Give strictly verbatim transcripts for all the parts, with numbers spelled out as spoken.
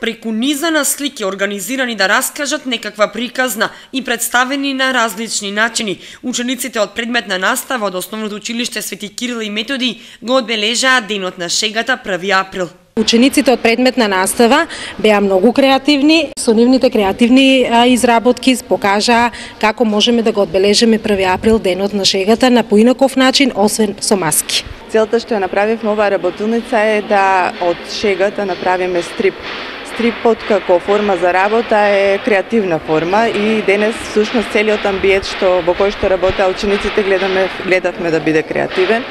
Преку низа на слики организирани да раскажат некаква приказна и представени на различни начини, учениците од предметна настава од Основното училиште Свети Кирил и Методи го одбележаа денот на шегата први април. Учениците од предметна настава беа многу креативни. Со нивните креативни изработки покажаа како можеме да го одбележиме први април, денот на шегата, на поинаков начин, освен со маски. Целта што ја направивме оваа работилница е да од шегата направиме стрип. Стрипот како форма за работа е креативна форма и денес всушност целиот амбиент што во кој што работеа учениците гледаме гледавме да биде креативен,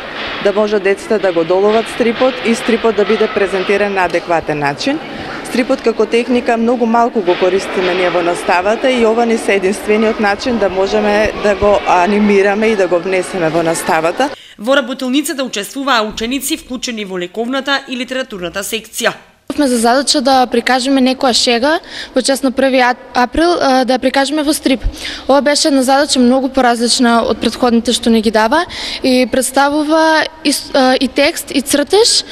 да може децата да го доловат стрипот и стрипот да биде презентиран на адекватен начин. Стрипот како техника многу малку го користиме ние во наставата и ова ни се единствениот начин да можеме да го анимираме и да го внесеме во наставата. Во работилницата учествуваа ученици вклучени во лековната и литературната секција. Сме за задача да прикажеме некоја шега во чест на први април, да ја прикажеме во стрип. Ова беше една задача многу поразлична од претходните што ни ги дава и представува и, и текст, и цртеж,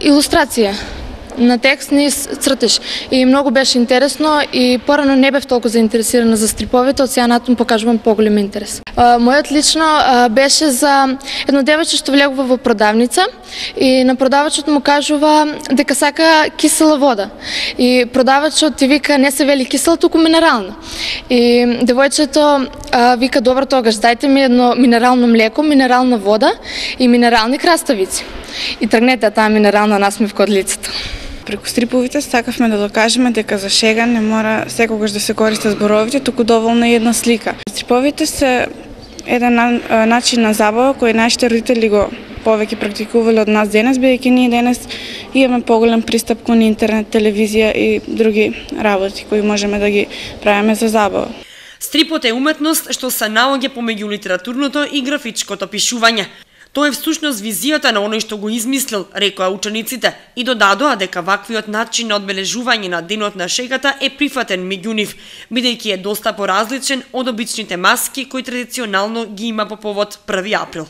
илустрација на текст ни цртеж. И многу беше интересно и порано не бев толку заинтересирана за стриповите, од сега натаму покажувам поголем интерес. Мојот лично беше за едно девојче што влегува во продавница и на продавачот му кажува дека сака кисела вода. И продавачот ти вика не се вели кисела, туку минерална. И девојчето вика добро тогаш дајте ми едно минерално млеко, минерална вода и минерални краставици. И тргнете таа минерална насмевка од лицето. Преку стриповите сакавме да докажеме дека за шега не мора секогаш да се користат зборовите, туку доволно е една слика. Стриповите се еден начин на забава кој нашите родители го повеќе практикувале од нас денес, бидејќи ние денес имаме поголем пристап кон интернет, телевизија и други работи кои можеме да ги правиме за забава. Стрипот е уметност што се наоѓа помеѓу литературното и графичкото пишување. Тоа е всушност визијата на оној што го измислил, рекоа учениците, и додадоа дека ваквиот начин на одбележување на денот на шегата е прифатен меѓу нив, бидејќи е доста поразличен од обичните маски кои традиционално ги има по повод први април.